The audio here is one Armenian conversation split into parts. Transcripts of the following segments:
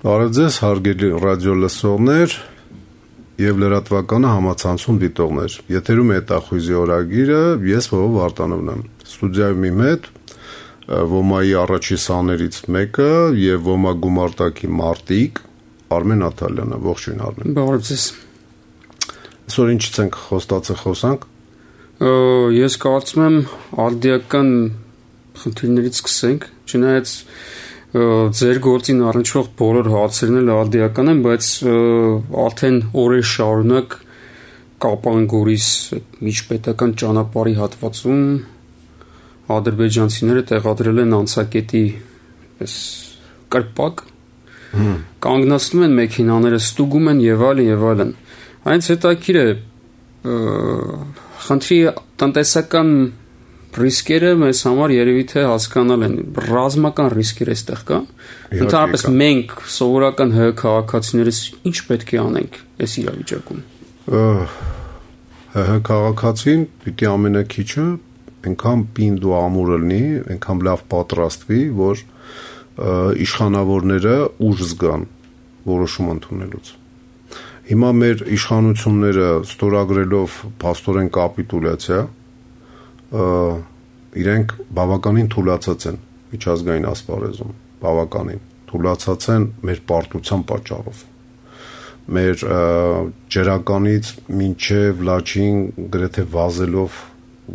Բարև ձեզ, հարգելի ռադիո լսողներ եւ լրատվականը համացանցում դիտողներ։ Եթերում է հետախույզի օրագիրը, ես Վովո Վարդանովն եմ։ Ստուդիայում իմ հետ Ոմայի առաջի սաներից մեկը եւ Ոմա գումարտակի մարտիկ Արմեն Աթալյանը։ Ողջույն Արմեն։ Բարև ձեզ։ Այսօր ինչից ենք խոսանք։ Ես կարծում եմ արդիական խնդիրներից սկսենք, չնայած ձեր գործին առնչվող բոլոր հարցերն էլ արդիական են, բայց արդեն օրեր շարունակ Կապան-Գորիս միջպետական ճանապարհի հատվածում ադրբեջանցիները տեղադրել են անցակետի այսպես կրպակ, կանգնացնում են մեքենաները, ստուգում են եւ այլն։ Այնց հետաքրիր է խնդրի տնտեսական ռիսկերը մեզ համար երևի թե հասկանալ են, ռազմական ռիսկեր այստեղ կա։ Ընդհանրապես մենք սովորական ՀՀ քաղաքացիներս ինչ պետք է անենք այս իրավիճակում։ ՀՀ քաղաքացին պիտի ամենակիչը այնքան պինդ ու ամուր լինի, այնքան լավ պատրաստվի, որ իշխանավորները ուժ զգան որոշում ընդունելուց։ Հիմա մեր իշխանությունները ստորագրելով փաստորեն կապիտուլյացիա իրենք բավականին թուլացած են միջազգային ասպարեզում, բավականին թուլացած են մեր պարտության պատճառով, մեր ջրականից մինչև լաչին գրեթե վազելով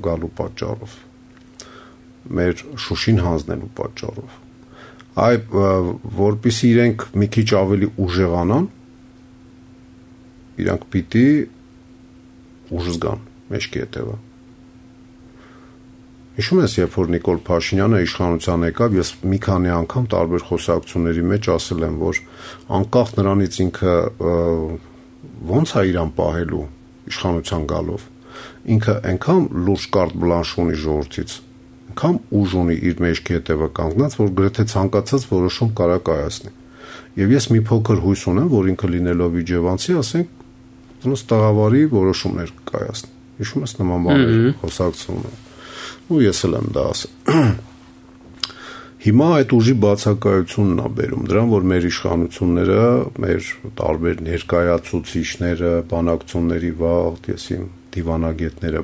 գալու պատճառով, մեր Շուշին հանձնելու պատճառով, որպեսզի իրենք մի քիչ ավելի ուժեղանան, իրանք պիտի ուժ զգան մեջքի հետևը։ Հիշում ես, երբ որ Նիկոլ Փաշինյանը իշխանության եկավ, ես մի քանի անգամ տարբեր խոսակցությունների մեջ ասել եմ, որ անկախ նրանից ինքը ոնց է իրան պահելու իշխանության գալով, ինքը այնքան լուրջ կարտ բլանշ ունի ժողովրդից, այնքան ուժ ունի իր մեջքի հետևը կանգնած, որ գրեթե ցանկացած որոշում կարա կայացնի։ Եվ ես մի փոքր հույս ունեմ, որ ինքը լինելով իջևանցի, ասենք, ոնց տաղավարի որոշումներ կայացնի։ Հիշում ես նման բաներ խոսակցում են։ Ու ես էլ եմ դա ասել։ Հիմա այդ ուժի բացակայությունն է բերում դրան, որ մեր իշխանությունները, մեր տարբեր ներկայացուցիչները, բանակցությունների վաղ, եսիմ դիվանագետները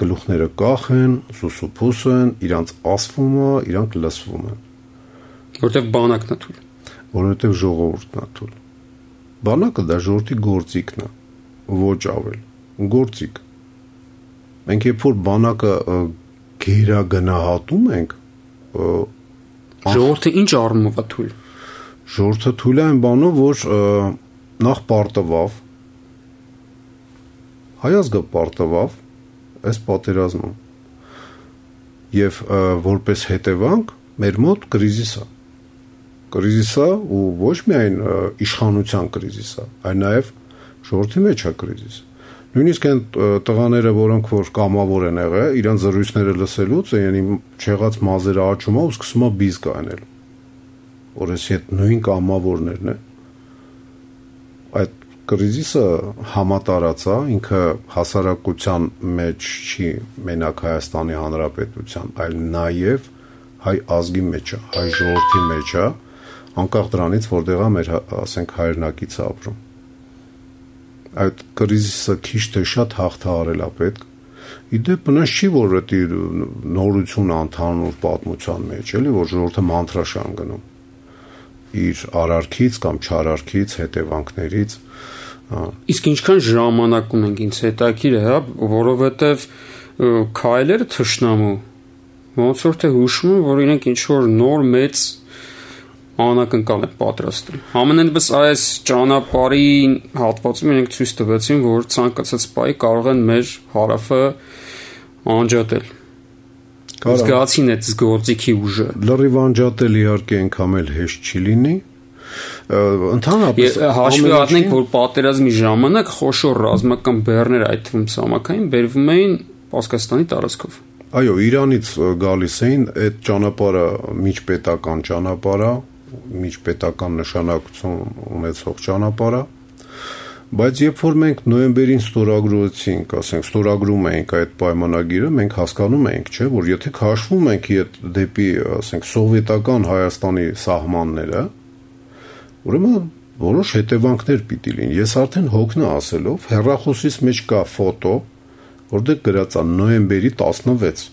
գլուխները կախեն, սուսուփուս են, իրանց ասվում է, իրանք լսվում են։ Որտեվ բանակն է թույլ։ Որովհետև ժողովուրդն է թույլ։ Բանակը դա ժողովրդի գործիքն է, ոչ ավել, գործիք։ Մենք երբ որ բանակը գերագնահատում ենք, ժողովուրդը ինչ առումով է թույլ։ Ժողովուրդը թույլ է այն բանով, որ նախ պարտվավ, հայ ազգը պարտվավ այս պատերազմում, եւ որպես հետևանք մեր մոտ կրիզիս է։ Կրիզիս է ու ոչ միայն իշխանության կրիզիս է, այլ նաեւ ժողովրդի մեջ է կրիզիս։ Նույնիսկ այն տղաները, որոնք որ կամավոր են եղել, իրենց զրույցները լսելուց այն չեղած մազերը աճում է ու սկսում է բիզ կանել։ Որ էս այդ նույն կամավորներն են։ Այդ կրիզիսը համատարած է, ինքը հասարակության մեջ չի մենակ Հայաստանի Հանրապետության, այլ նաև հայ ազգի մեջ է, հայ ժողովրդի մեջ է, անկախ դրանից, որտեղ է մեր, ասենք, հայրենակիցը ապրում։ Այդ կրիզիսը քիչ թե շատ հաղթահարել է պետք։ Իդեպ բնած չի, որ դա նորություն ընդհանուր պատմության մեջ, էլի, որ ժողովուրդը մանտրաշան գնում իր արարքից կամ չարարքից, հետևանքներից։ Իսկ ինչքան ժամանակ ունենք ինձ հետաքրիր է, հա, որովհետև քայլերը թշնամու ոնց որ թե հուշում են, որ իրենք ինչ որ նոր մեծ անակնկալ են պատրաստում։ Համենայնպես այս ճանապարհի հատվածում իրենք ցույց տվեցին, որ ցանկացած պահի կարող են մեր հարավը անջատել։ Զգացին այդ գործիքի ուժը։ Լրիվ անջատել իհարկե այնքան էլ հեշտ չի լինի։ Ընդհանրապես հաշվի առնենք, որ պատերազմի ժամանակ խոշոր ռազմական բեռներ, այդ թվում ցամաքային, բերվում էին Պարսկաստանի տարածքով։ Այո, Իրանից գալիս էին այդ ճանապարհը միջպետական ճանապարհ է, միջպետական նշանակություն ունեցող ճանապարհ է, բայց երբ որ մենք նոյեմբերին ստորագրեցինք, ասենք ստորագրում էինք այդ պայմանագիրը, մենք հասկանում էինք, չէ, որ եթե քաշվում ենք դեպի, ասենք, սովետական Հայաստանի սահմանները, Ուրեմն որոշ հետևանքներ պիտի լինեն։ Ես արդեն հոգնա ասելով հեռախոսից մեջ կա ֆոտո, որտեղ գրած է նոյեմբերի 16։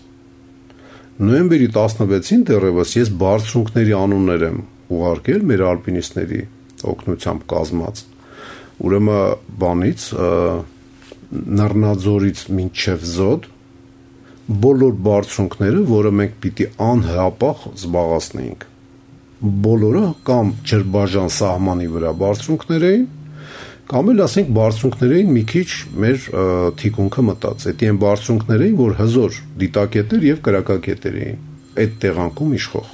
Նոյեմբերի 16-ին դեռևս ես բարձրունքների անուններ եմ ուղարկել մեր ալպինիստների օգնությամբ կազմած։ Ուրեմն բանից Նռնաձորից մինչև Զոդ բոլոր բարձրունքները, որը մենք պիտի անհապաղ զբաղացնեինք։ Բոլորը կամ Ջրբաժան սահմանի վրա բարձրունքներ էին, կամ էլ ասենք բարձրունքներ էին մի քիչ մեր թիկունքը մտած։ Այդ այն բարձրունքներ էին, որ հզոր դիտակետեր եւ կրակակետեր էին այդ տեղանքում իշխող։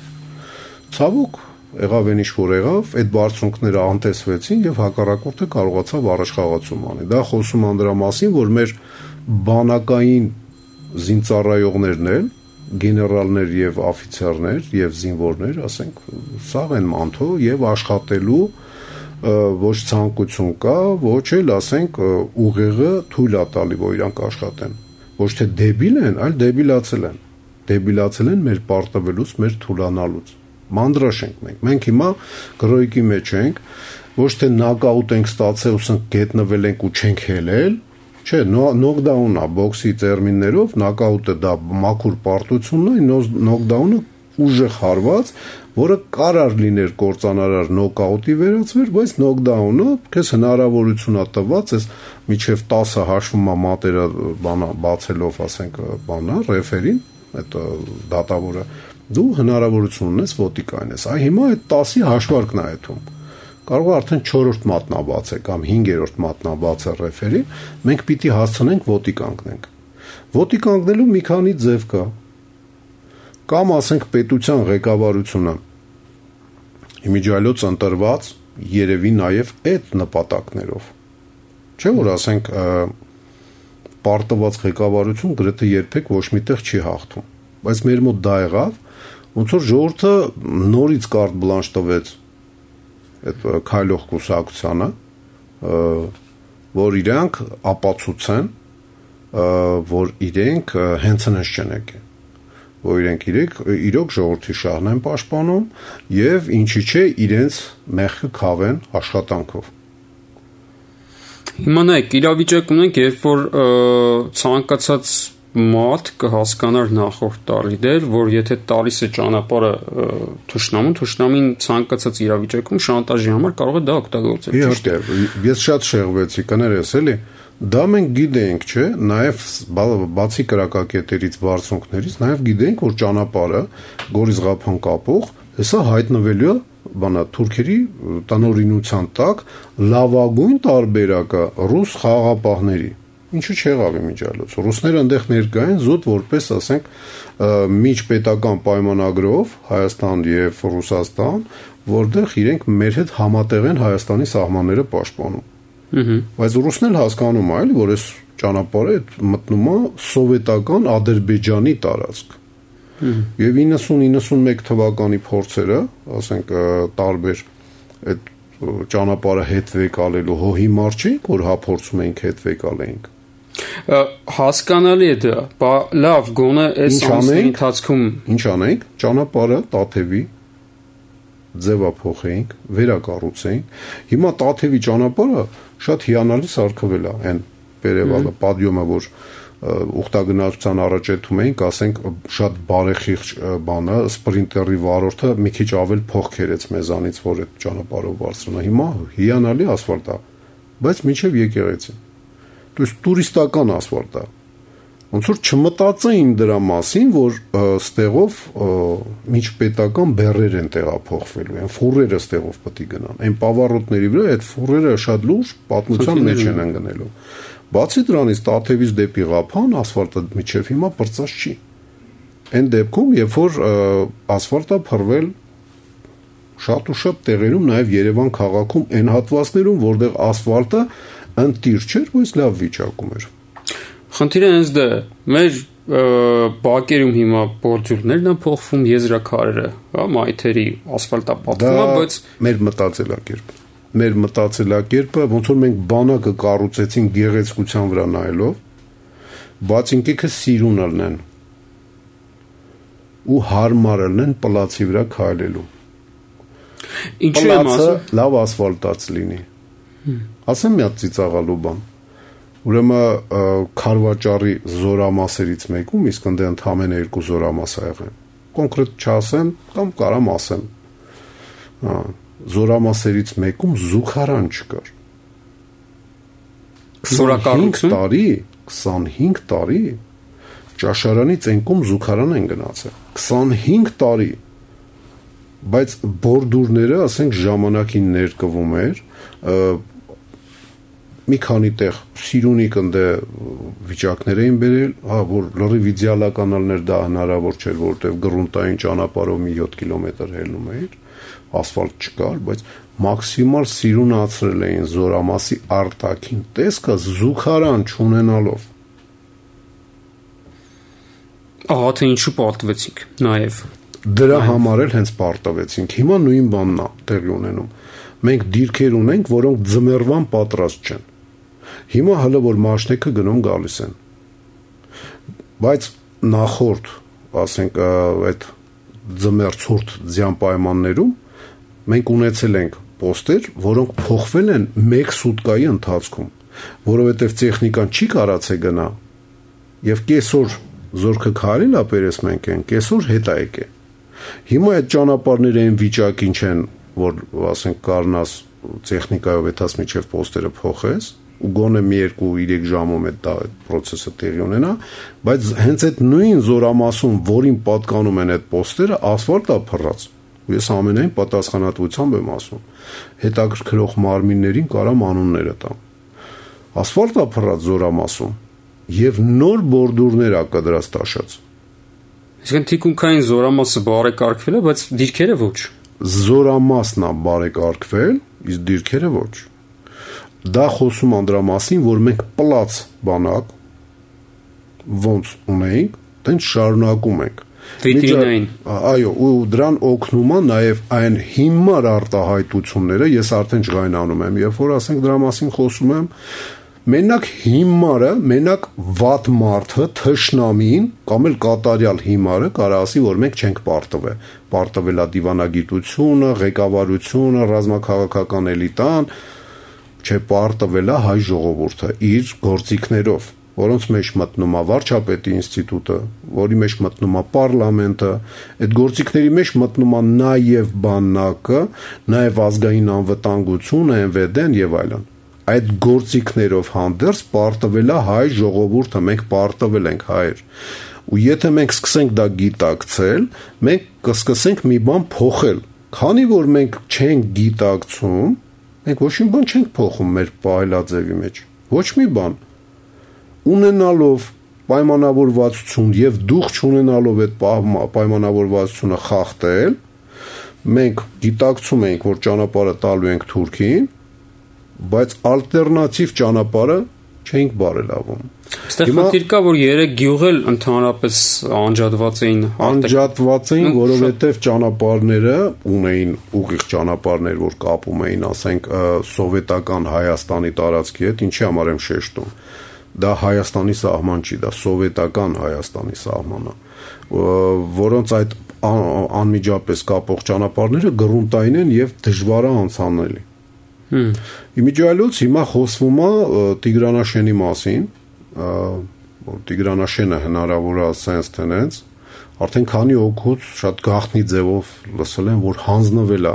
Ցավոք եղավ այն ինչ որ եղավ, այդ բարձրունքները անտեսվեցին եւ հակառակորդը կարողացավ առաջխաղացում անել։ Դա խոսում անդրա մասին, որ մեր բանակային զինծառայողներն էլ գեներալներ եւ օֆիցերներ եւ զինվորներ, ասենք, սաղ են մանթո եւ աշխատելու ոչ ցանկություն կա, ոչ էլ ասենք ուղեղը թույլ է տալի, որ իրանք աշխատեն։ Ոչ թե դեբիլ են, այլ դեբիլացել են։ Դեբիլացել են մեր պարտվելուց, մեր թուլանալուց։ Մանրաշ ենք մենք։ Մենք հիմա գրոյկի մեջ ենք, ոչ թե նոկաուտ ենք ստացել, ուսանք գետնվել ենք ու չենք հելել։ Չէ, նոկդաունը բոքսի տերմիններով նոկաուտը դա մաքուր պարտությունն է, նոկդաունը ուժեղ հարված, որը կարար լիներ կործանարար նոկաուտի վերածվեր, բայց նոկդաունը քեզ հնարավորություն է տված, այս միջև 10 հաշվում է մատերը բացելով, ասենք, բանա, ռեֆերին, այդ դատավորը, դու հնարավորություն ունես ոտիկ այնես։ Այ հիմա այդ 10-ի հաշվարկն է այդում։ Կարող է արդեն 4-րդ մատնաբաց է կամ 5-րդ մատնաբաց է ռեֆերի, մենք պիտի հասցնենք ոտի կանգնենք։ Ոտի կանգնելու մի քանի ձև կա։ Կամ ասենք պետության ղեկավարությունը իմիջիայլոց ընտրված երևի նաև այդ նպատակներով։ Չէ՞ որ ասենք պարտված ղեկավարություն գրեթե երբեք ոչ միտեղ չի հաղթում։ Բայց մեր մոտ դա եղավ, ոնց որ ժողովուրդը նորից կարտ բլանշ տվեց այդ քայլող կուսակցությանը, որ իրանք ապացուցեն, որ իրենք հենց հենց չեն եկել, որ իրենք իրոք ժողովրդի շահն են պաշտպանում եւ ինչի՞ չէ իրենց մեղքը քավեն աշխատանքով։ Հիմա նայեք, իրավիճակ ունենք, երբ որ ցանկացած մարդ կհասկանար նախորդ տարի դեր, որ եթե տալիս է ճանապարհը թշնամին ցանկացած իրավիճակում շանտաժի համար կարող է դա օգտագործել։ Իհարկե, ես շատ շեղվեցի, կներես էլի, դա մենք գիտենք, չէ, նաև բացի կրակակետերից, բարձունքներից, նաև գիտենք, որ ճանապարհը Գորիզղափան կապող, հեսա հայտնվելու է բանա թուրքերի տնօրինության տակ լավագույն տարբերակը ռուս խաղաղապահների։ Ինչու չեղավ իմիջիայլոց։ Ռուսները այնտեղ ներկա են զուտ որպես, ասենք, միջպետական պայմանագրով Հայաստան եւ Ռուսաստան, որտեղ իրենք մեր հետ համատեղ են Հայաստանի սահմանները պաշտպանում։ Բայց ռուսն էլ հասկանում է, որ այս ճանապարհը մտնում է սովետական Ադրբեջանի տարածք։ Եվ 90-91 թվականի փորձերը, ասենք, տարբեր այդ ճանապարհը հետվեկալելու հո հիմար չի, որ հափորձում էինք հետվեկալեինք։ Հասկանալի է դա, լավ, գոնե այս ամիսների ընթացքում ինչ անենք, ճանապարհը Տաթևի ձևափոխեինք, վերակառուցեինք։ Հիմա Տաթևի ճանապարհը շատ հիանալի սարքվել է, այն վերևալը, պադիոմը, որ ուխտագնացության առաջեթում էինք, ասենք, շատ բարեխիղճ բանը, սպրինտերի վարորդը մի քիչ ավել փող քերեց մեզանից, որ այդ ճանապարհով բարձրանա։ Հիմա հիանալի ասֆալտ է, բայց մինչև եկեղեցի։ То есть տուրիստական ասֆալտ է։ Ոնց որ չմտածեին դրա մասին, որ ստեղով միջպետական բեռեր են տեղափոխվելու, այն ֆուրերը ստեղով պետք է գնան։ Այն պավառոտների վրա այդ ֆուրերը շատ լուրջ պատմության մեջ են ընկնելու։ Բացի դրանից Տաթևից դեպի Ղափան ասֆալտը միջև հիմա բրծած չի։ Այն դեպքում, երբ որ ասֆալտը փռվել շատ ու շատ տեղերում, նաև Երևան քաղաքում այն հատվածներում, որտեղ ասֆալտը ընտիր չէր, բայց լավ վիճակում էր։ Խնդիրը հենց դա է։ Մեր բակերում հիմա բորձյուրներն են փոխվում, եզրաքարերը, հա, մայթերի ասֆալտապատվում է, բայց մեր մտածելակերպը ոնց որ մենք բանակը կառուցեցին գեղեցկության վրա նայելով, բայց ինքեքը սիրուն ալնեն ու հարմար ալնեն պլացի վրա քայլելու։ Ինչու եմ ասում, լավ ասֆալտած լինի։ Ասեմ մի հատ ծիծաղալու բան։ Ուրեմն քարվաճառի զորամասերից մեկում իսկ ընդ ընդամենը 2 զորամաս ա եղել։ Կոնկրետ չասեմ, կամ կարամ ասեմ։ Զորամասերից մեկում զուգարան չկար։ 25 տարի ճաշարանի ծենքում զուգարան են գնացել։ 25 տարի։ Բայց բորդուրները, ասենք, ժամանակին ներկվում էր, մի քանի տեղ սիրունիկ ընդ վիճակներ էին բերել, որ լրիվ իդեալականալներ դա հնարավոր չէր, որովհետև գրունտային ճանապարհով մի 7 կիլոմետր հելնում էր, ասֆալտ չկար, բայց մաքսիմալ սիրունացրել էին զորամասի արտաքին տեսքը զուգարան չունենալով։ Ահա թե ինչու պարտվեցինք նաև։ Դրա համար էլ հենց պարտվեցինք։ Հիմա նույն բանն է տեղի ունենում։ Մենք դիրքեր ունենք, որոնք ձմեռվան պատրաստ չեն։ Հիմա հələ որ մաշնեկը գնում գալիս են։ Բայց նախորդ, ասենք, այդ ձմեռ ցուրտ ձյան պայմաններում մենք ունեցել ենք պոստեր, որոնք փոխվել են 1 սուտկայի ընթացքում, որովհետև տեխնիկան չի կարացե գնա։ Եվ կեսօր զորքը քարել ապերես մենք են, կեսօր հետ է եկե։ Հիմա այդ ճանապարհները այն վիճակին չեն, որ ասենք կարնաս տեխնիկայով այդաս միջև պոստերը փոխես, ու գոնե մի 2-3 ժամում այդ process-ը տեղի ունենա, բայց հենց այդ նույն զորամասում, որին պատկանում են այդ պոստերը, ասֆալտ է փռած։ Ու ես ամենայն պատասխանատվությամբ եմ ասում։ Հետաքրքրող մարմիններին կարամ անունները տամ։ Ասֆալտ է փռած զորամասում եւ նոր բորդուրներ ա կդրած տաշած։ Իսկ թիկունքային զորամասը բարեկարգվել է, բայց դիրքերը ոչ։ Զորամասն է բարեկարգվել, իսկ դիրքերը ոչ։ Դա խոսում անդրա մասին, որ մենք պլաց բանակ ոնց ունենք, տենց շարունակում ենք։ Վիտրինային։ Այո, ու դրան օգնում է նաև այն հիմար արտահայտությունները, ես արդեն ջղայնանում եմ, երբ որ ասենք դրա մասին խոսում եմ, մենակ հիմարը, մենակ վատ մարդը, թշնամին կամ էլ կատարյալ հիմարը կարող ասի, որ մենք չենք պարտվել։ Պարտվել է դիվանագիտությունը, ղեկավարությունը, ռազմաքաղաքական էլիտան, չէ պարտվել է հայ ժողովուրդը իր գործիքներով, որոնց մեջ մտնում է վարչապետի ինստիտուտը, որի մեջ մտնում է պարլամենտը, այդ գործիքների մեջ մտնում է նաև բանակը, նաև ազգային անվտանգությունը, ՆՎԴ-ն եւ այլն։ Այդ գործիքներով հանդերձ պարտվել է հայ ժողովուրդը, մենք պարտվել ենք հայեր։ Ու եթե մենք սկսենք դա գիտակցել, մենք կսկսենք մի բան փոխել։ Քանի որ մենք չենք գիտակցում, մենք ոչ մի բան չենք փոխում մեր պայլաձևի մեջ։ Ոչ մի բան։ Ունենալով պայմանավորվածություն եւ դուխ չունենալով այդ պայմանավորվածությունը խախտել, մենք գիտակցում ենք, որ ճանապարհը տալու ենք Թուրքին, բայց ալտերնատիվ ճանապարհը չենք բարելավում։ Այստեղ խնդիր կա, որ 3 գյուղ էլ ընդհանրապես անջատված էին, որովհետև ճանապարհները ունեին ուղիղ ճանապարհներ, որ կապում էին, ասենք, սովետական Հայաստանի տարածքի հետ, ինչի համար եմ շեշտում։ Դա Հայաստանի սահման չի, դա սովետական Հայաստանի սահմանն է, որոնց այդ անմիջապես կապող ճանապարհները գրունտային են եւ դժվար է անցանելի։ Իմիջիայլոց հիմա խոսվում է Տիգրանաշենի մասին, որ Տիգրանաշենը հնարավոր է sense tenants, արդեն քանի օգուտ շատ գաղտնի ձևով լսել են, որ հանձնվել է,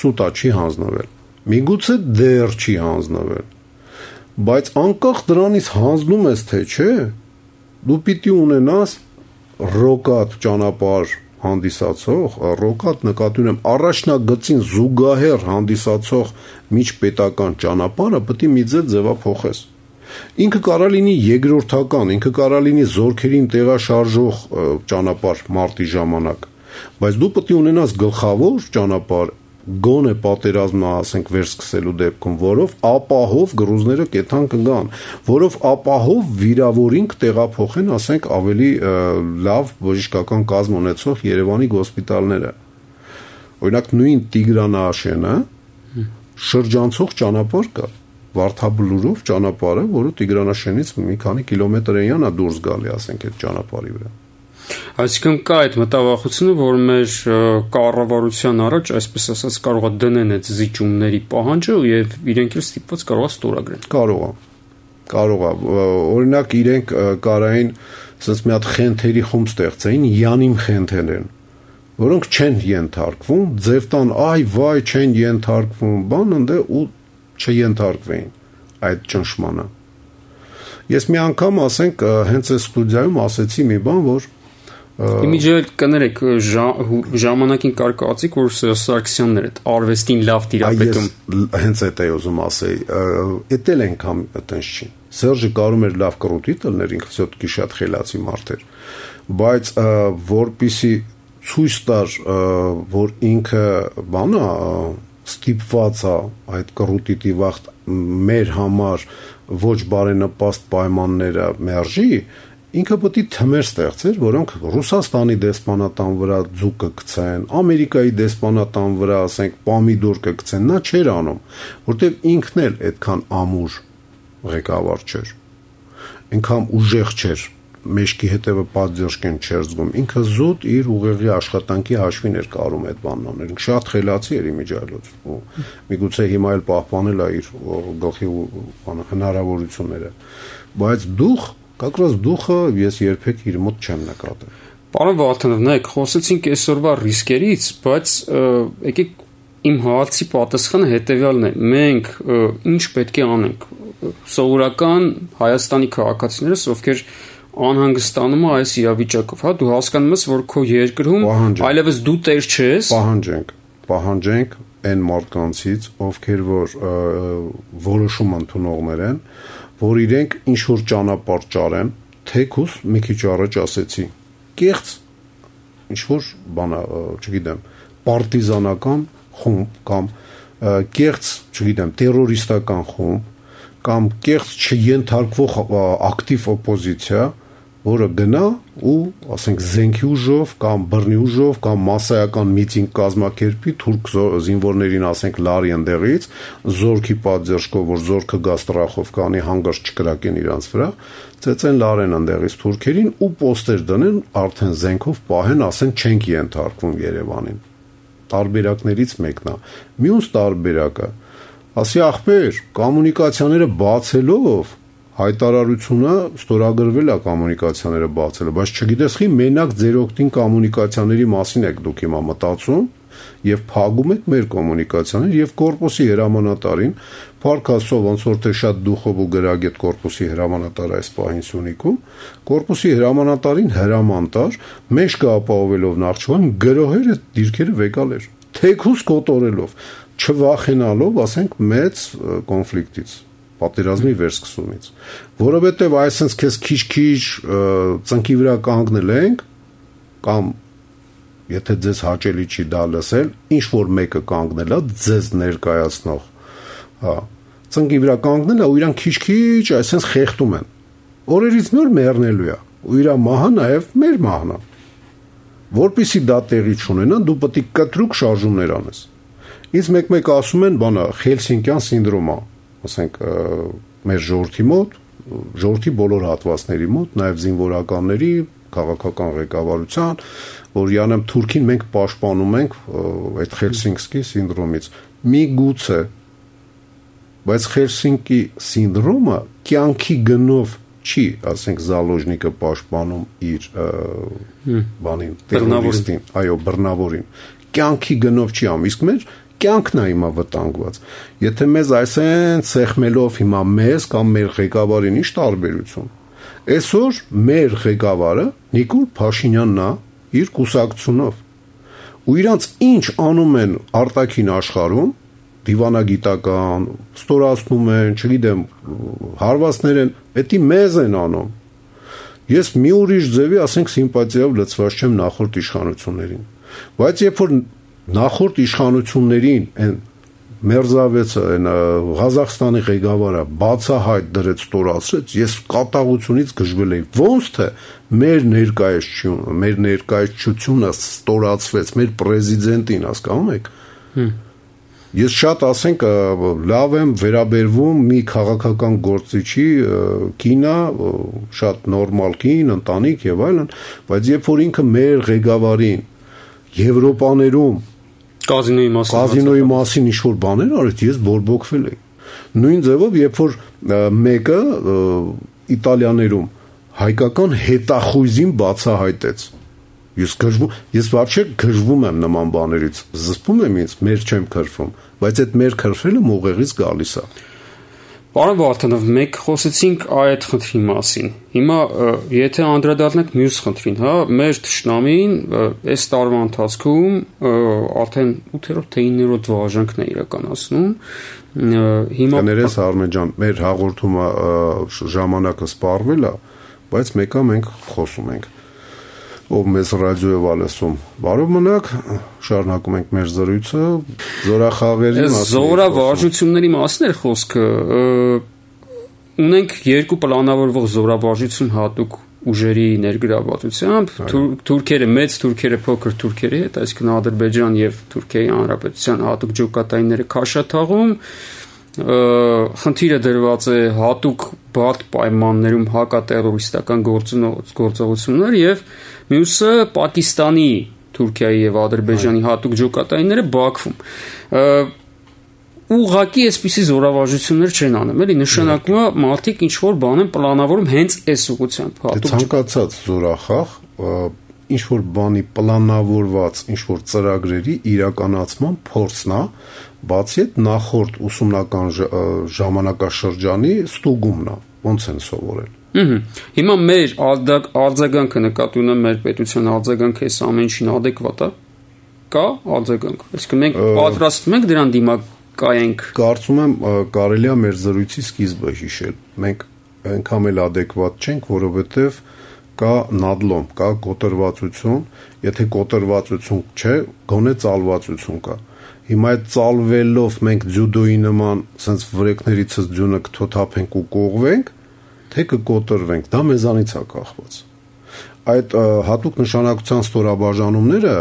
սուտա չի հանձնվել, միգուցե դեռ չի հանձնվել, բայց անկախ դրանից հանձնում ես թե չէ, դու պիտի ունենաս ռոկատ ճանապարհ հանդիսացող, ռոկատ նկատի ունեմ առաջնագծին զուգահեռ հանդիսացող միջպետական ճանապարհը պետք է մի ձևափոխես։ Ինքը կարա լինի երկրորդական, ինքը կարա լինի զորքերին տեղաշարժող ճանապարհ մարտի ժամանակ, բայց դու պետք է ունենաս գլխավոր ճանապարհ, գոնե պատերազմը, ասենք, վերսկսելու դեպքում, որով ապահով գրուզները կեթան կգան, որով ապահով վիրավորին կտեղափոխեն, ասենք, ավելի լավ բժշկական կազմ ունեցող Երևանի հոսպիտալները։ Օրինակ նույն Տիգրանաշենը շրջանցող ճանապարհ կա, Վարդաբլուրով ճանապարհը, որը Տիգրանաշենից մի քանի կիլոմետր էնա դուրս գալի, ասենք, այդ ճանապարհի վրա։ Այսինքն կա այդ մտավախությունը, որ մեր կառավարության առաջ, այսպես ասած, կարող է դնեն այդ զիջումների պահանջը եւ իրենք էլ ստիպված կարող է ստորագրեն։ Կարող է։ Օրինակ իրենք կարային ասես մի հատ խենթերի խումբ ստեղծեին, յանիմ խենթեր են, որոնք չեն ենթարկվում, ձև տան, այ վայ, չեն ենթարկվում, բան ընդ ու չենթարկվեին այդ ճնշմանը։ Ես մի անգամ, ասենք, հենց այս ստուդիայում ասեցի մի բան, որ Իմիջիայել կներեք ժամանակին կար կարծիք, որ Սարգսյանն էր այդ արվեստին լավ տիրապետում։ Հենց այդ է ուզում ասեի, էտել ենքամ այտենց չի։ Սերժը կարում էր լավ կռուտի տլներ, ինքը всё-таки շատ խելացի մարդ էր, բայց որպիսի ցույց տար, որ ինքը բանա ստիպված է այդ կռուտի տիվախտ մեր համար ոչ բարենպաստ պայմանները մերժի, ինքը պետք է թմեր ստեղծեր, որոնք Ռուսաստանի դեսպանատան վրա ձուկ կգցեն, Ամերիկայի դեսպանատան վրա, ասենք, պամիդոր կգցեն, նա չէր անում, որտեղ ինքն էլ այդքան ամուր ղեկավար չէր, այնքան ուժեղ չէր, մեջքի հետևը պատժկեն չէր զգում, ինքը զուտ իր ուղեղի աշխատանքի հաշվին էր կարում այդ բանն անել, շատ խելացի էր իմիջիայլոց, ու միգուցե հիմա էլ պահպանել է իր գլխի հնարավորությունները, բայց դուխը ես երբեք իր մոտ չեմ նկատել։ Պարոն Վալթանով, նայեք, խոսեցինք այսօրվա ռիսկերից, բայց եկեք իմ հարցի պատասխանը հետևյալն է. մենք ինչ պետք է անենք։ Սովորական Հայաստանի քաղաքացիներս, ովքեր անհանգստանում է այս իրավիճակով, հա, դու հասկանում ես, որ քո երկրում այլևս դու տեր չես։ Պահանջենք այն մարդկանցից, ովքեր որ որոշում ընդունողներ են, որ իրենք ինչ-որ ճանապարհ ճարեն, թեկուզ մի քիչ առաջ ասեցի, կեղծ ինչ-որ բան, չգիտեմ, պարտիզանական խումբ կամ կեղծ, չգիտեմ, տերորիստական խումբ կամ կեղծ չենթարկվող ակտիվ օպոզիցիա, որը գնա ու, ասենք, զենքի ուժով կամ բռնի ուժով կամ մասսայական միտինգ կազմակերպի թուրք զինվորներին, ասենք, լարի ընդեղից, զորքի պատժկով, որ զորքը գա ստրախով կանի հանգարց չկրակեն իրանց վրա, ծեծեն լարեն ընդեղից թուրքերին ու պոստեր դնեն, արդեն զենքով պահեն, ասեն, չենք ենթարկվում Երևանին։ Տարբերակներից մեկն է։ Մյուս տարբերակը, ասի ախպեր, կոմունիկացիաները բացելով հայտարարությունը ստորագրվել է կոմունիկացիաները բացելը, բայց չգիտես խի մենակ ձեր օգտին կոմունիկացիաների մասին եք դուք հիմա մտածում եւ փակում եք մեր կոմունիկացիաները եւ կորպուսի հրամանատարին, Փարքասով ոնց որ թե շատ դուխով ու գրագետ կորպուսի հրամանատար այս պահին Սյունիքում, կորպուսի հրամանատարին հրամանտար մեջքը ապահովելով Նախճիվան գրոհեր այդ դիրքերը վեկալ էր, թեկուս կոտորելով, չվախենալով, ասենք, մեծ կոնֆլիկտից, պատերազմի վերսկսումից, որովհետև այսպես քեզ քիչ-քիչ ծնկի վրա կանգնել ենք, կամ եթե ձեզ հաճելի չի դա լսել, ինչ որ մեկը կանգնել է ձեզ ներկայացնող, հա, ծնկի վրա կանգնել է ու իրան քիչ-քիչ այսպես խեղդում են, օրերից նոր մեռնելու է, ու իր մահը նաև մեր մահն է, որպեսզի դա տեղի չունենա, դու պետք է կտրուկ շարժումներ անես։ Ինձ մեկ-մեկ ասում են, բանա, Խելսինկյան սինդրոմա, ասենք, մեր ժողովրդի մոտ, ժողովրդի բոլոր հատվածների մոտ, նաև զինվորականների, քաղաքական ղեկավարության, որ յանեմ Թուրքին մենք պաշտպանում ենք այդ Խելսինկի սինդրոմից։ Միգուցե, բայց Խելսինկի սինդրոմը կյանքի գնով չի, ասենք, Զալոժնիկը պաշտպանում իր բանին, տերորիստին, այո, բռնավորին։ Կյանքի գնով չի անում, իսկ մեր կյանքն է հիմա վտանգված։ Եթե մեզ այսեն ցեխմելով հիմա մեզ կամ մեր ղեկավարին ինչ տարբերություն։ Այսօր մեր ղեկավարը Նիկոլ Փաշինյանն է իր կուսակցությունով։ Ու իրանց ինչ անում են արտաքին աշխարհում, դիվանագիտական, ստորացնում են, չգիտեմ, հարվածներ են, պետք է մեզ են անում։ Ես մի ուրիշ ձևի, ասենք, սիմպաթիայով լցված չեմ նախորդ իշխանություններին։ Բայց երբ որ նախորդ իշխանություններին այն Մերզավեցը, այն Ղազախստանի ղեկավարը բացահայտ դրեց, ստորացրեց, ես կատաղությունից գժվել էի, ոնց թե մեր ներկայացությունը ստորացվեց, մեր պրեզիդենտին, հասկանում եք, Ես շատ ասենք լավ եմ վերաբերվում մի քաղաքական գործիչի կինա, շատ նորմալ կին, ընտանիք եւ այլն, բայց երբ որ ինքը մեր ղեկավարին Եվրոպաներում կազինոյի մասին ինչ-որ բաներ արեց, ես բորբոքվել եմ։ Նույն ձևով, երբ որ մեկը Իտալիաներում հայկական հետախույզին բացահայտեց, ես вообще գժվում եմ նման բաներից, զսպում եմ ինձ, մեր չեմ քրվում, բայց այդ մեր քրֆելը մողեղից գալիս է։ Պարոն Վարդանով, մենք խոսեցինք այդ խնդրի մասին։ Հիմա եթե անդրադառնանք մյուս խնդրին, հա, մեր թշնամին այս տարվա ընթացքում արդեն 8-րդ թե 9-րդ վարժանքն է իրականացնում։ Հիմա կներես Արմեն ջան, մեր հաղորդումը ժամանակը սպառվել է, բայց մեկը մենք խոսում ենք։ Ով մեզ ռադիոյով ալսում։ Բարով մնաք, շարունակում ենք մեր զրույցը զորախաղերի մասին։ Զորավարժությունների մասին էր խոսքը։ Ունենք երկու պլանավորվող զորավարժություն հատուկ ուժերի ներգրավվածությամբ, թուրքերը մեծ, թուրքերը փոքր թուրքերի հետ, այսինքն Ադրբեջան եւ Թուրքիայի Հանրապետության հատուկ ջոկատայինները քաշաթաղում։ Խնդիրը դրված է հատուկ բարդ պայմաններում հակատերորիստական գործողություններ եւ մյուսը Պակիստանի, Թուրքիայի եւ Ադրբեջանի հատուկ ջոկատայինները Բաքվում։ Ուղղակի այսպիսի զորավարժություններ չեն անում, էլի նշանակում է մարդիկ ինչ որ բան են պլանավորում հենց այս ուղղությամբ։ Ցանկացած զորախաղ ինչ որ բանի պլանավորված ինչ որ ծրագրերի իրականացման փորձն է, բացի այդ նախորդ ուսումնական ժամանակաշրջանի ստուգումն է, ոնց են սովորել։ Հիմա մեր արձագանքը նկատի ունեմ մեր պետության արձագանքը այս ամեն ինչին ադեկվատ է։ Կա արձագանք։ Այսինքն մենք պատրաստվում ենք դրան դիմակայենք։ Կարծում եմ կարելի է մեր զրույցի սկիզբը հիշել։ Մենք այնքան էլ ադեկվատ չենք, որովհետև կա նադլոմ, կա կոտրվածություն, եթե կոտրվածություն չէ, գոնե ծալվածություն կա։ Հիմա այդ ծալվելով մենք ձյուդոյի նման sense վրեկներիցս ձյունը կթոթափենք ու կողվենք, թե կկոտրվենք, դա մեզանից է կախված։ Այդ հատուկ նշանակության ստորաբաժանումները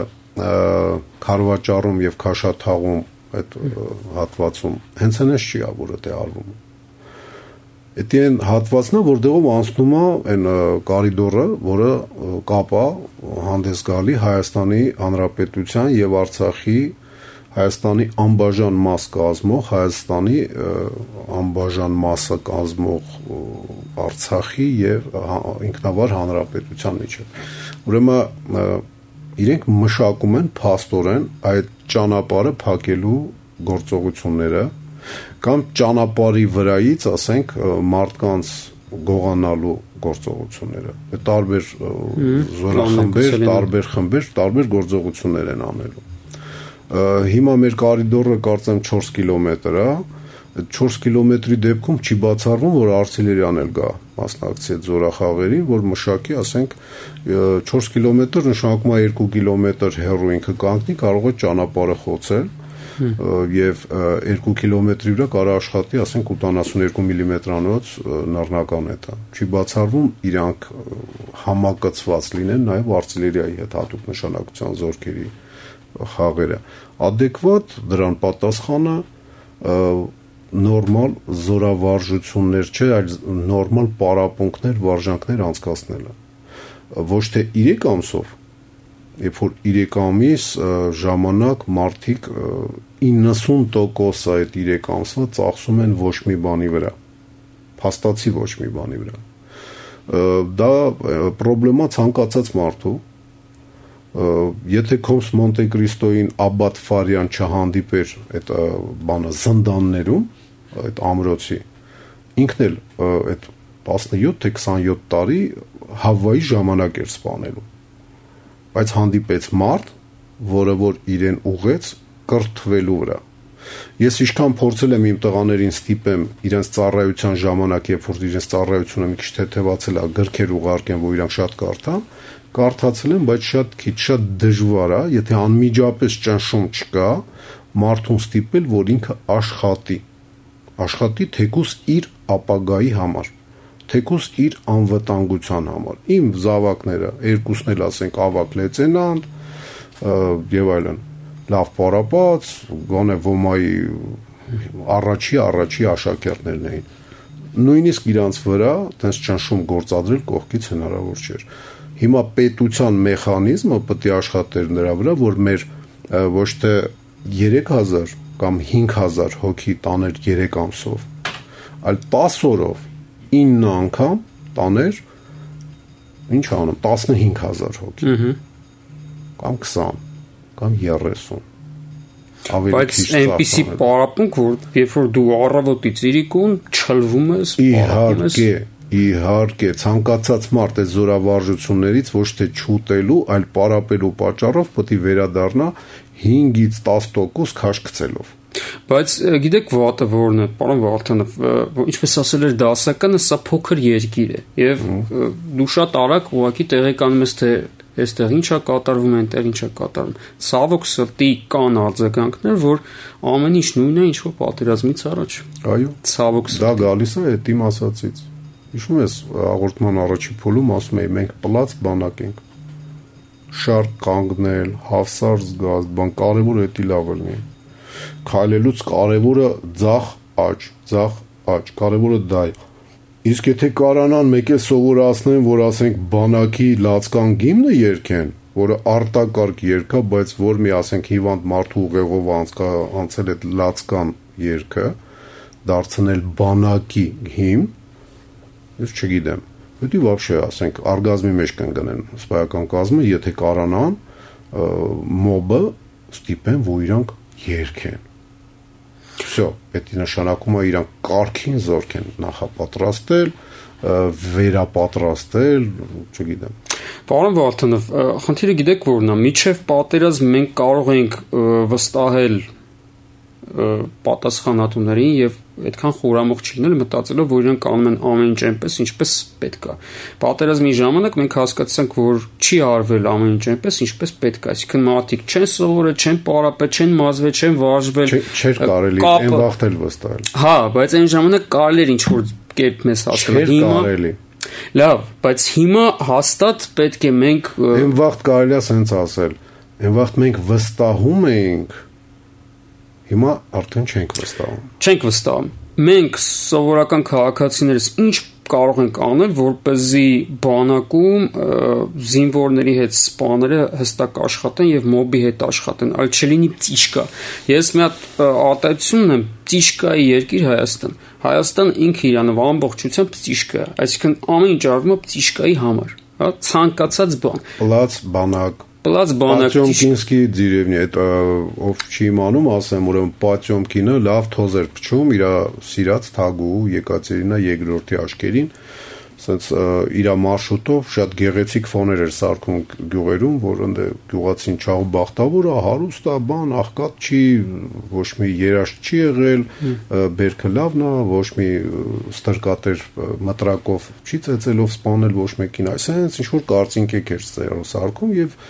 Քարվաճառում եւ Քաշաթաղում այդ հատվածում հենց այնպես չի ա, որ դա արվում։ Դա այն հատվածն է, որտեղով անցնում է այն կորիդորը, որը կապա հանդես գալի Հայաստանի Հանրապետության եւ Արցախի Հայաստանի անբաժան մաս կազմող, Հայաստանի անբաժան մասը կազմող Արցախի եւ ինքնավար հանրապետության միջեւ։ Ուրեմն իրենք մշակում են փաստորեն այդ ճանապարհը փակելու գործողությունները կամ ճանապարհի վրայից, ասենք, մարդկանց գողանալու գործողությունները։ Տարբեր զորախմբեր, տարբեր խմբեր, տարբեր գործողություններ են անելու։ Հիմա մեր կորիդորը կարծեմ 4 կիլոմետր է, 4 կիլոմետրի դեպքում չի բացառվում, որ Արցելերյան էլ գա մասնակցի այդ զորախաղերին, որ մշակի, ասենք, 4 կիլոմետր նշանակում է 2 կիլոմետր հեռու ինքը կանգնի, կարող է ճանապարհը խոցել եւ 2 կիլոմետրի վրա կարող աշխատի, ասենք 82 մմ-անոց նռնական էտա։ Չի բացառվում իրանք համակցված լինեն նաեւ արտիլերիայի հետ հատուկ նշանակության զորքերի խաղերը։ Ադեկվատ դրան պատասխանը նորմալ զորավարժություններ չէ, այլ նորմալ պարապմունքներ, վարժանքներ անցկացնելը։ Ոչ թե 3 ամսով, երբ որ 3 ամիս ժամանակ մարդիկ 90% այդ 3 ամսվա ծախսում են ոչ մի բանի վրա, փաստացի ոչ մի բանի վրա։ Դա պրոբլեմա ցանկացած մարդու, եթե Կոմս Մոնտե Կրիստոյին Աբբատ Ֆարյան չհանդիպեր այդ բանը զնդաններում, այդ ամրոցի, ինքն էլ այդ 17 թե 27 տարի Հավայի ժամանակ էր սպանելու, բայց հանդիպեց մարդ, որը որ իրեն ուղեց կրթվելու վրա։ Ես ինչքան փորձել եմ իմ տղաներին ստիպեմ իրենց ծառայության ժամանակ, երբ որ իրենց ծառայությունը մի քիչ թեթևացել է, գրքեր ուղարկեն, որ իրանք շատ կարդան, կարդացել եմ, բայց շատ քիչ, շատ դժվար է, եթե անմիջապես ճնշում չկա, մարդուն ստիպել, որ ինքը աշխատի թեկուս իր ապագայի համար, թեկուս իր անվտանգության համար։ Իմ զավակները երկուսն էլ ասենք ավակ լեյտենանտ եւ այլն։ լավ պարապած, գոնե ոմայի առաջի աշակերտներն էին։ Նույնիսկ իրանց վրա տես ճնշում գործադրել կողքից հնարավոր չէր։ Հիմա պետության մեխանիզմը պետք է աշխատեր նրա վրա, որ մեր ոչ թե 3000 կամ 5000 հոգի տաներ 3 ամսով, այլ 10 օրով 9 անգամ տաներ ինչ անում 15000 հոգի։ Կամ 20 կամ 30 Բայց այնպիսի պարապմունք, որ երբ որ դու առավոտից իրիկուն չլվում ես, իհարկե, ցանկացած մարդ է զորավարժություններից ոչ թե չուտելու, այլ պարապելու պատճառով պետք է վերադառնա 5-ից 10% քաշ գցելով։ Բայց գիտեք վատը որն է, պարոն Վարդանов, ինչպես ասել էր դասականը, սա փոքր երկիր է, եւ դու շատ արագ ուղղակի տեղեկանում ես, թե այստեղ ինչա կատարվում, այնտեղ ինչա կատարվում։ Ցավոք սրտի կան արձագանքներ, որ ամեն ինչ նույնն է, ինչ որ պատերազմից առաջ։ Այո, ցավոք սրտի։ Դա գալիս է այդ իմ ասածից։ Հիշում ես, հաղորդման առաջի փուլում ասում էի, մենք պլաց բանակ ենք։ Շարք կանգնել, հավսար զգալ, բան կարևորը էդի լավ լինի։ Քայլելուց կարևորը ձախ աճ, կարևորը դա է։ Իսկ եթե կարանան մեկ է սովորացնեն, որ ասենք բանակի լացկան գիմնը երգեն, որը արտակարգ երգ է, բայց որ մի ասենք հիվանդ մարդու ուղեղով անցել այդ լացկան երգը, դարձնել բանակի հիմն, ես չգիտեմ։ Պետք է вообще ասենք արգազմի մեջ կընկնեն սպայական կազմը, եթե կարանան մոբը ստիպեն, որ իրանք երգեն։ Всё, դա նշանակում է իրանք կարգին զորք են նախապատրաստել, վերապատրաստել, չգիտեմ։ Պարոն Վարդանով, խնդիրը գիտեք որն է, միջև պատերազմ մենք կարող ենք վստահել պատասխանատուներին եւ այդքան խորամուխ չլինել մտածելով, որ իրենք անում են ամեն ինչ այնպես, ինչպես պետք է։ Պատերազմի ժամանակ մենք հասկացանք, որ չի արվել ամեն ինչ այնպես, ինչպես պետք է։ Այսինքն մարդիկ չեն սովորել, չեն պարապել, չեն մազվել, չեն վարժվել։ Չէր կարելի այն վաղտել վստահել։ Հա, բայց այն ժամանակ կարելի էր ինչ-որ կերպ մեզ հասկանալ։ Հիմա կարելի։ Լավ, բայց հիմա հաստատ պետք է մենք այն վաղտ կարելի է ասենց ասել։ Այն վաղտ մենք վստահում էինք, հիմա արդեն չենք վստահում։ Չենք վստահում։ Մենք սովորական քաղաքացիներս ինչ կարող ենք անել, որպեսզի բանակում զինվորների հետ սպաները հստակ աշխատեն եւ մոբի հետ աշխատեն, այլ չլինի ծիշկա։ Ես մի հատ արտահայտություն ունեմ, ծիշկայի երկիր Հայաստան։ Հայաստան ինքը իրանով ամբողջությամբ ծիշկա է, այսինքն ամեն ինչ արվում է ծիշկայի համար, հա, ցանկացած բան։ Պլաց բանակ Պլացբանակ դիրևնի այդ ով չի իմանում, ասեմ, ուրեմն Պատյոմկինը լավ թոզ էր փչում իր սիրած թագու Եկատերինա II աշկերին, ասենց իր մարշրուտով շատ գեղեցիկ ֆոներ էր սարքում գյուղերում, որ ընդ գյուղացին չաղ բախտավոր է, հարուստ է, բան, աղքատ չի, ոչ մի երաշտ չի եղել, բերքը լավն է, ոչ մի ստրկատեր մտրակով չի ծեծելով սպանել ոչ մեկին, այսինքն ինչ որ կարծինքեք էր սարքում եւ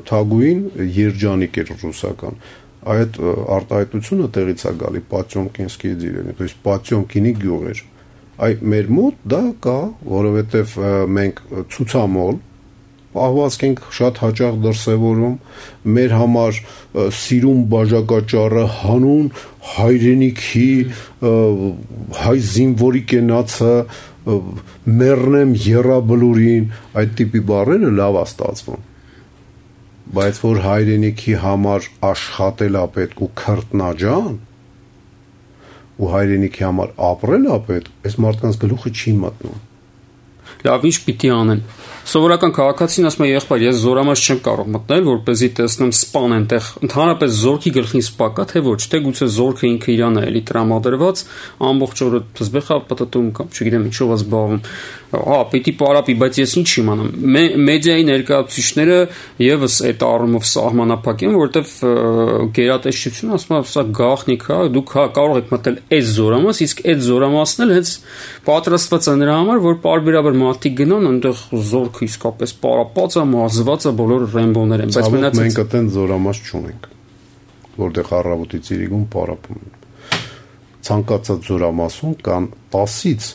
թագուին երջանիկ էր ռուսական։ Այդ արտահայտությունը տեղից է գալի Պատյոմկինսկի դիրևնի, то есть Պատյոմկինի գյուղ էր։ Այ մեր մոտ դա կա, որովհետև մենք ցուցամոլ պահվածք ենք շատ հաճախ դրսևորում, մեր համար սիրուն բաժակաճառը հանուն հայրենիքի հայ զինվորի կենացը մեռնեմ եռաբլուրին, այդ տիպի բառերը լավ է ստացվում, բայց որ հայրենիքի համար աշխատել է պետք ու քրտնաջան ու հայրենիքի համար ապրել է պետք, այս մարդկանց գլուխը չի մտնում։ Լավ, ինչ պիտի անեն։ Սովորական քաղաքացին ասում է, եղբայր, ես զորամաս չեմ կարող մտնել, որպեսզի տեսնեմ սպան այնտեղ ընդհանրապես զորքի գլխին սպա կա, թե ոչ, թե գուցե զորքը ինքը իրան է էլի տրամադրված, ամբողջ օրը թզբեխա պատտում կամ չգիտեմ ինչով է զբաղվում։ Հա, պիտի պարապի, բայց ես ինչ իմանամ։ Մեդիայի ներկայացուցիչները եւս այդ առումով սահմանափակ են, որովհետեւ գերատեսչությունը ասում է, սա գաղտնիք է, դուք կարող եք մտնել այս զորամաս, իսկ այդ զորամասն էլ հենց պատրաստված է նրա համար, որ պարբերաբար մարդիկ գնան, այնտեղ զորքը իսկապես պարապած է, մազված է, բոլոր ռեմբոներ են, բայց մնացած մենք այդտեն զորամաս չունենք, որտեղ առավոտից իրիկուն պարապում են։ Ցանկացած զորամասում կան 10-ից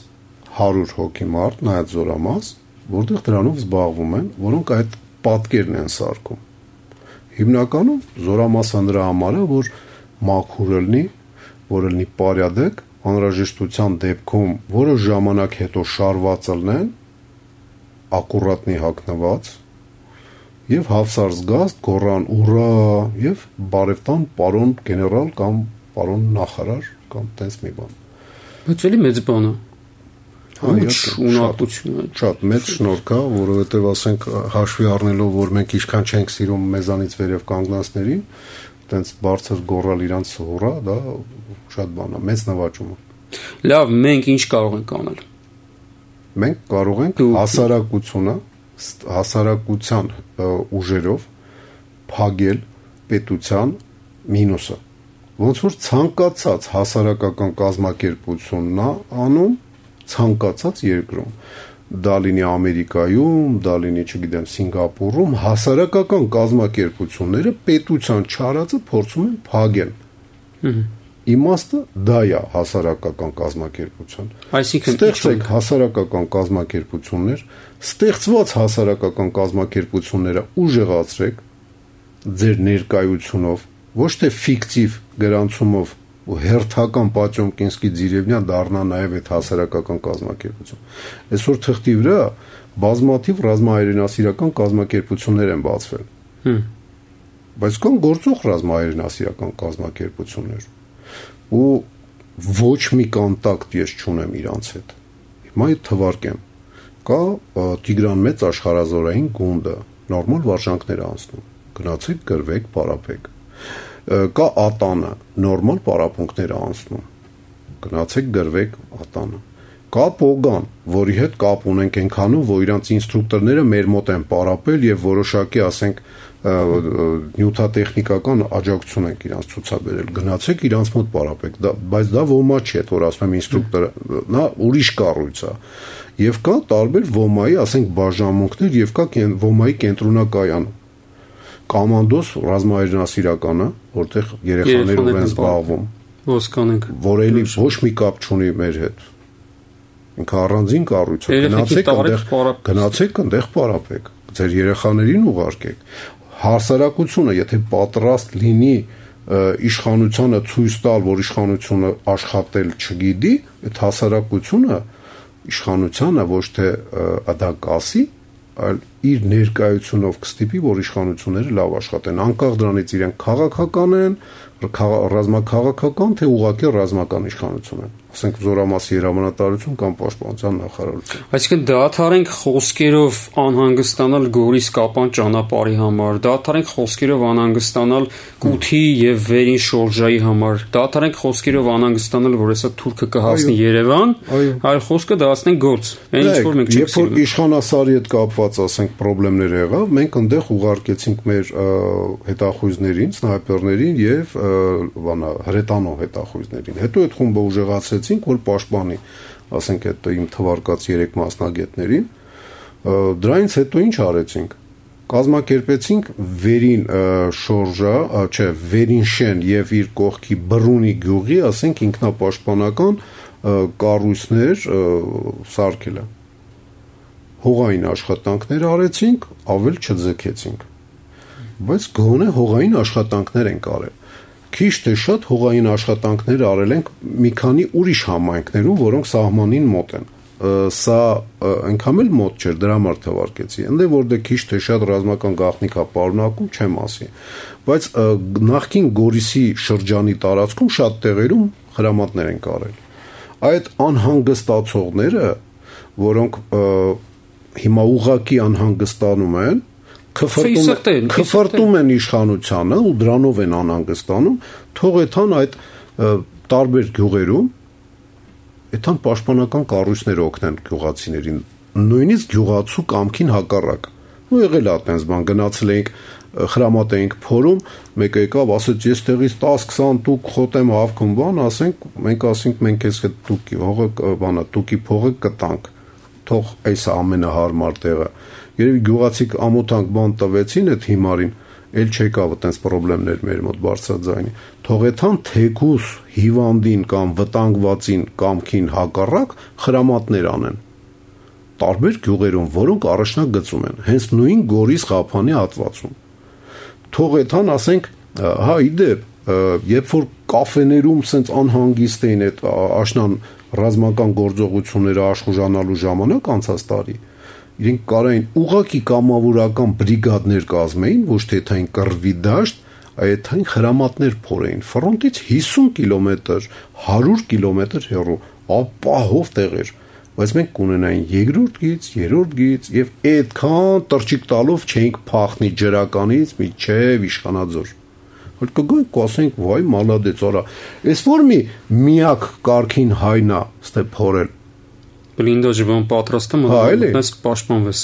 100 հոգի մարդ, նայած զորամաս, որտեղ դրանով զբաղվում են, որոնք այդ պատկերն են սարքում։ Հիմնականում զորամասը նրա համար է, որ մաքուր լինի, որ լինի պարյադեկ, անհրաժեշտության դեպքում որոշ ժամանակ հետո շարված լինեն, ակուրատնի հագնված եւ հավսարզգաստ գոռան ուրա եւ բարևտան պարոն գեներալ կամ պարոն նախարար կամ տես մի բան։ Բայց էլի մեծ բան է։ Ունակությունը շատ մեծ շնորհք է, որովհետեւ ասենք հաշվի առնելով, որ մենք ինչքան չենք սիրում մեզանից վերև կանգնածներին, տենց բարձր գոռալ իրանց հոռա, դա շատ բան է, մեծ նվաճում է։ Լավ, մենք ինչ կարող ենք անել։ Մենք կարող ենք հասարակության ուժերով փագել պետության մինուսը։ Ոնց որ ցանկացած հասարակական կազմակերպությունն է անում ցանկացած երկրում։ Դա լինի Ամերիկայում, դա լինի, չգիտեմ, Սինգապուրում, հասարակական կազմակերպությունները պետության չարածը փորձում են փագել։ Իմաստը դա է հասարակական կազմակերպություն։ Այսինքն ստեղծեք հասարակական կազմակերպություններ, ստեղծված հասարակական կազմակերպությունները ուժեղացրեք ձեր ներկայությունով, ոչ թե ֆիկտիվ գրանցումով ու հերթական Պատյոմկինսկի Ձիրևնյա դառնա նաև այդ հասարակական կազմակերպություն։ Այսօր թղթի վրա բազմաթիվ ռազմահայրենասիրական կազմակերպություններ են բացվել։ Բայց կան գործող ռազմահայրենասիրական կազմակերպություններ ու ոչ մի կոնտակտ ես չունեմ իրանց հետ։ Հիմա այդ թվարկեմ։ Կա Տիգրան Մեծ աշխարհազորային գունդը, նորմալ վարժանքներ անցնում։ Գնացեք, գրվեք, պարապեք։ Կա ԱՏԱՆ-ը, նորմալ պարապմունքներ անցնում։ Գնացեք, գրվեք ԱՏԱՆ-ը։ Կա Պոգան, որի հետ կապ ունենք այնքանում, որ իրանց ինստրուկտորները մեր մոտ են պարապել եւ որոշակի, ասենք, նյութատեխնիկական աջակցություն ենք իրանց ցուցաբերել։ Գնացեք իրանց մոտ պարապեք, բայց դա ոմա չի, այդ որ ասում եմ ինստրուկտորը, նա ուրիշ կառույց է։ Եվ կա տարբեր ոմայի, ասենք, բաժանմունքներ եւ կա ոմայի կենտրոնակայանը։ Կոմանդոս ռազմահայրենասիրականը, որտեղ երեխաներով են զբաղվում, ոսկանենք, որ էլի ոչ մի կապ չունի մեր հետ։ Ինքը առանձին կառույց է, գնացեք այնտեղ պարապեք, ձեր երեխաներին ուղարկեք։ Հասարակությունը, եթե պատրաստ լինի իշխանությանը ցույց տալ, որ իշխանությունը աշխատել չգիտի, այդ հասարակությունը իշխանությանը ոչ թե դա կասի, այլ իր ներկայությունով կստիպի, որ իշխանությունները լավ աշխատեն, անկախ դրանից իրենք քաղաքական են, ռազմաքաղաքական, թե ուղղակի ռազմական իշխանություն են, ասենք զորամասի հրամանատարություն կամ պաշտպանության նախարարություն։ Այսինքն դադարենք խոսքերով անհանգստանալ Գորիս Կապան ճանապարհի համար, դադարենք խոսքերով անհանգստանալ Կութի եւ Վերին Շորժայի համար, դադարենք խոսքերով անհանգստանալ, որ հեսա թուրքը կհասնի Երևան, այլ խոսքը դասնենք գործ։ Այն ինչ որ մենք չենք սիրում։ Երբ որ իշխանասարի հետ կապված, ասենք, խնդիրներ եղավ, մենք այնտեղ ուղարկեցինք մեր հետախույզներին, սնայպերներին եւ հրետանո հետախույզներին։ Հետո այդ խումբը ուժեղացրեցինք, որ պաշտպանի, ասենք, այդ իմ թվարկած 3 մասնագետներին։ Դրանից հետո ինչ արեցինք։ Կազմակերպեցինք Վերին Շորժա, Վերին Շեն եւ իր կողքի Բռունի գյուղի, ասենք, ինքնապաշտպանական կառույցներ սարքելը։ Հողային աշխատանքներ արեցինք, ավել չձգեցինք։ Բայց գոնե հողային աշխատանքներ ենք արել։ Քիչ թե շատ հողային աշխատանքներ արել ենք մի քանի ուրիշ համայնքներում, որոնք սահմանին մոտ են։ Սա այնքան էլ մոտ չէր, դրա համար թվարկեցի։ Ընդ որտեղ քիչ թե շատ ռազմական գաղտնիք է պարունակում, չեմ ասի։ Բայց նախքին Գորիսի շրջանի տարածքում շատ տեղերում հրամատներ են արել։ Այդ անհանգստացողները, որոնք հիմա ուղղակի անհանգստանում են, քֆրտում են իշխանությանը ու դրանով են անհանգստանում, թող էթան այդ տարբեր գյուղերում էթան պաշտպանական կառույցներ օգնեն գյուղացիներին, նույնիսկ գյուղացու կամքին հակառակ։ Ու եղել է այդպես բան, գնացել էինք, խրամատ էինք փորում, մեկը եկավ, ասեց, ես տեղից 10-20 տուկ խոտեմ հավքում, բան, ասենք, մենք ասենք, մենք էս այդ տուկի հողը, բանա, տուկի փողը կտանք։ Թող այս ամենահարմար տեղը։ Երևի գյուղացիք ամոթանք բան տվեցին այդ հիմարին, էլ չեկավ այդպես խնդիրներ մեր մոտ բարձրաձայնի։ Թողեթան թեկուս հիվանդին կամ վտանգվածին կամքին հակառակ խրամատներ անեն։ Տարբեր գյուղերում, որոնք առաջնագծում են, հենց նույն Գորիս Ղափանի հատվածում։ թող այդան ասենք, հա իդեպ, երբ որ կաֆեներում սենց անհանգիստ էին այդ աշնան ռազմական գործողությունները աշխուժանալու ժամանակ անցած տարի, իրենք կարային ուղակի կամավորական բրիգադներ կազմեին, ոչ թե այն կռվի դաշտ, այդ այն խրամատներ փորեին, ֆրոնտից 50 կիլոմետր, 100 կիլոմետր հեռու, ապահով տեղեր, բայց մենք կունենային երկրորդ գիծ, երրորդ գիծ եւ այդքան տրճիկ տալով չէինք փախնի ջրականից միջև Իշխանաձոր։ Որ կգոյնք կասենք, վայ մալադեց, արա, այս որ միակ կարգին հայնա, ստե փորել։ Բլինդաժը բան պատրաստում, այնպես պաշտպանվես։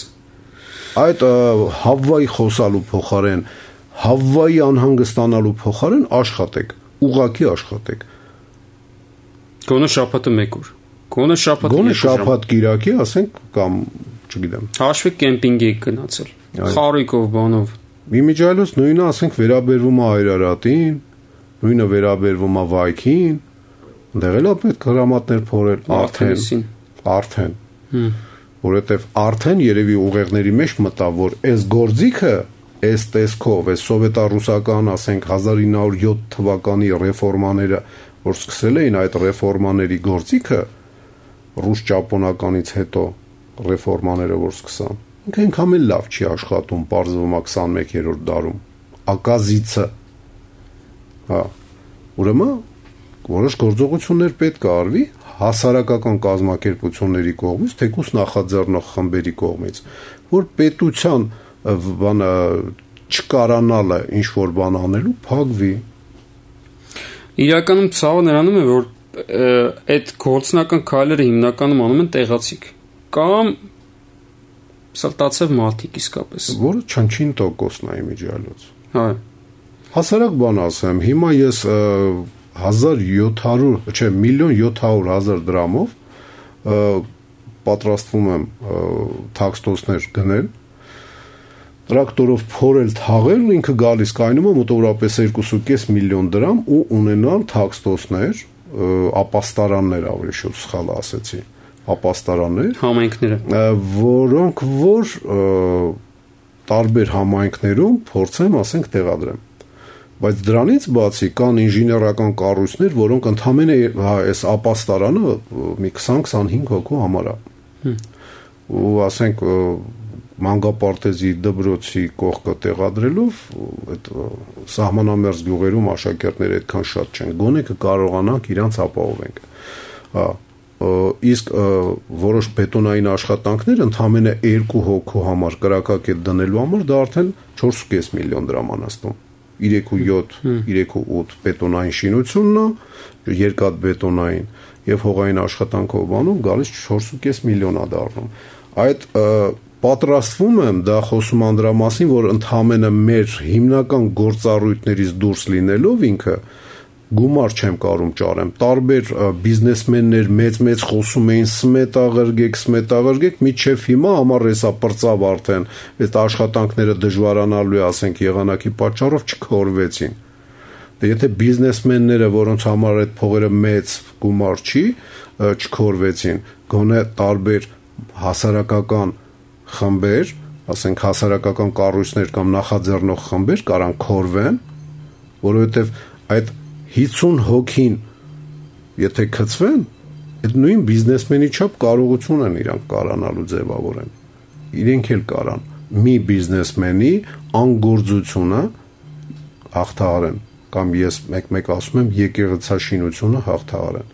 Այդ Հավվայի խոսալու փոխարեն, Հավվայի անհանգստանալու փոխարեն աշխատեք, ուղակի աշխատեք։ Գոնե շաբաթը 1 օր։ Գոնե շաբաթ կիրակի, ասենք, կամ չգիտեմ։ Հաշվի կեմպինգի գնացել։ Խարույկով բանով։ Իմիջիայլոց նույնը, ասենք, վերաբերվում է Այրարատին, նույնը վերաբերվում է Վայքին, այնտեղ էլ պետք հրամատներ փորել արդեն։ Որովհետև արդեն երևի ուղեղների մեջ մտավ, որ այս գործիքը, այս տեսքով, այս սովետա-ռուսական, ասենք 1907 թվականի ռեֆորմաները, որ սկսել էին այդ ռեֆորմաների գործիքը, ռուս-ճապոնականից հետո ռեֆորմաները, որ սկսան, ինքը այնքան էլ լավ չի աշխատում, պարզվում է 21-րդ դարում, ակազիցը, հա, ուրեմն որոշ գործողություններ պետք է արվի հասարակական կազմակերպությունների կողմից, թեկուզ նախաձեռնող խմբերի կողմից, որ պետության բանը չկարանալը ինչ-որ բան անելու փակվի։ Իրականում ցավը նրանում է, որ այդ գործնական քայլերը հիմնականում անում են տեղացիք կամ սլտացավ մարդիկ իսկապես, որը չնչին տոկոսն է իմիջիայլոց։ Հա։ Հասարակ բան ասեմ, հիմա ես 1.700.000 դրամով պատրաստվում եմ թաքստոցներ գնել, տրակտորով փորել թաղել, ինքը գալիս կայնում է մոտավորապես 2.5 միլիոն դրամ ու ունենալ թաքստոցներ, ապաստարաններ, ավելի շուտ սխալ ասեցի, ապաստարաններ, համայնքները, որոնք որ տարբեր համայնքներում փորձեմ, ասենք, տեղադրեմ։ Բայց դրանից բացի կան ինժեներական կառույցներ, որոնք ընդհանրապես այս ապաստարանը մի 20-25 հոգու համար է։ Ու ասենք մանկապարտեզի դպրոցի կողքը տեղադրելով այդ սահմանամերձ գյուղերում աշակերտները այդքան շատ չեն։ Գոնե կկարողանանք իրանց ապահովենք։ Հա, իսկ որոշ բետոնային աշխատանքներ ընդհանրապես 2 հոգու համար կրակակետ դնելու համար դա արդեն 4.5 միլիոն դրամ անաստում։ 3.8 բետոնային շինությունն է, երկաթ բետոնային եւ հողային աշխատանքով բանում գալիս 4.5 միլիոն է դառնում։ Այդ պատրաստվում եմ, դա խոսում եմ դրա մասին, որ ընդհանրապես մեր հիմնական գործառույթներից դուրս լինելով ինքը գումար չեմ կարում ճարեմ։ Տարբեր բիզնեսմեններ մեծ խոսում էին սմետաղրգեք, միջև հիմա համար էսա պրծավ արդեն, այդ աշխատանքները դժվարանալու է, ասենք, եղանակի պատճառով չքորվեցին։ Դե եթե բիզնեսմենները, որոնց համար այդ փողերը մեծ գումար չի, չքորվեցին, գոնե տարբեր հասարակական խմբեր, ասենք հասարակական կառույցներ կամ նախաձեռնող խմբեր կարան քորվեն, որովհետև այդ 50 հոգին եթե քծվեն, այդ նույն բիզնեսմենի չափ կարողություն են իրանք կարանալու ձևավորեն։ Իրենք էլ կարան մի բիզնեսմենի անգործությունը հաղթահարեն, կամ ես մեկ ասում եմ եկեղեցաշինությունը հաղթահարեն։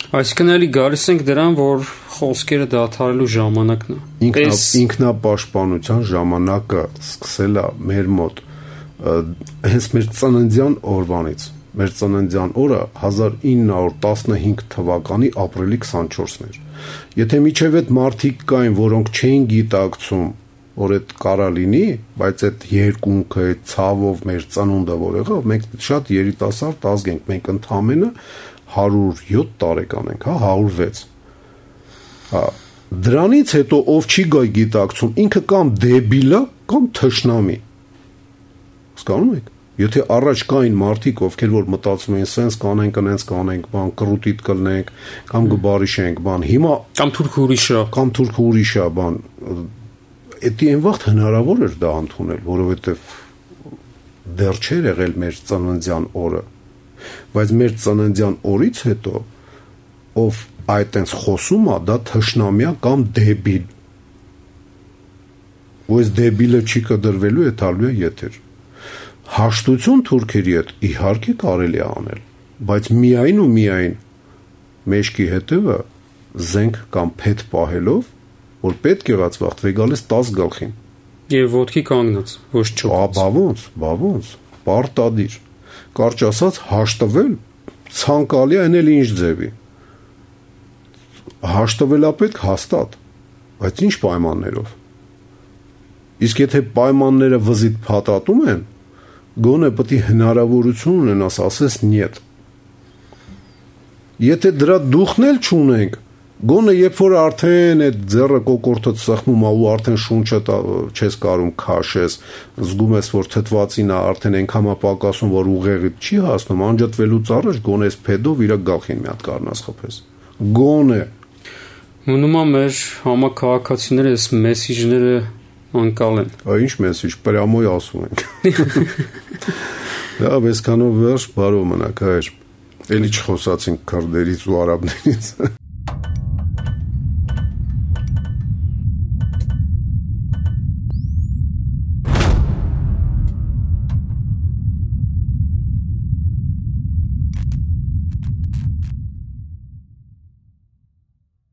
Այսինքն էլի գալիս ենք դրան, որ խոսքերը դադարելու ժամանակն է։ Ինքնապաշտպանության ժամանակը սկսել է մեր մոտ հենց մեր ծննդյան օրվանից։ Մեր ծննդյան օրը 1915 թվականի ապրիլի 24-ն էր։ Եթե միջև այդ մարդիկ կային, որոնք չէին գիտակցում, որ այդ կարա լինի, բայց այդ երկունքը, այդ ցավով մեր ծնունդը որ եղավ, մենք շատ երիտասարդ ազգ ենք, մենք ընդամենը 107 տարեկան ենք, հա, 106։ Հա, դրանից հետո ով չի գայ գիտակցում, ինքը կամ դեբիլ է, կամ թշնամի։ Հասկանում եք։ Եթե առաջ կային մարդիկ, ովքեր որ մտածում էին, սենց կանենք, անենց կանենք, բան կրուտիտ կլնենք, կամ գբարիշենք, բան, հիմա կամ թուրք ուրիշա, բան, Էդի այն վաղ հնարավոր էր դա ընդունել, որովհետև դեռ չէր եղել մեր ծննդյան օրը, բայց մեր ծննդյան օրից հետո ով այտենց խոսում է, դա թշնամյա կամ դեբիլ։ Ու այս դեբիլը չի կդրվելու է տալու է եթեր։ Հաշտություն թուրքերի հետ իհարկե կարելի է անել, բայց միայն ու միայն մեջքի հետևը զենք կամ փետ պահելով, որ պետք եղած վաղտվե գալիս 10 գլխին։ Եվ ոտքի կանգնած, ոչ չոքած։ Բավոնց, պարտադիր։ Կարճ ասած հաշտվել ցանկալի այն էլ ինչ ձևի։ Հաշտվելա պետք հաստատ, բայց ինչ պայմաններով։ Իսկ եթե պայմանները վզիտ փաթաթում են, գոնե պետք է հնարավորություն ունենաս ասես նյետ։ Եթե դրա դուխն էլ չունենք, գոնե երբ որ արդեն այդ ձեռը կոկորտը ծխմում է ու արդեն շունչը չես կարում քաշես, զգում ես որ թթվածին է արդեն այնքան պակասում որ ուղեղիդ չի հասնում, անջատվելուց առաջ գոնե այս փեդով իր գլխին մի հատ կառնաս խփես։ Գոնե մնում է մեր համակարգացիները այս մեսիջները անկալեն։ Ինչ մեսիջ, պրամոյ ասում ենք։ Դա այսքանով վերջ բարով մնաք հայր։ Էլի չխոսացինք քրդերից ու արաբներից։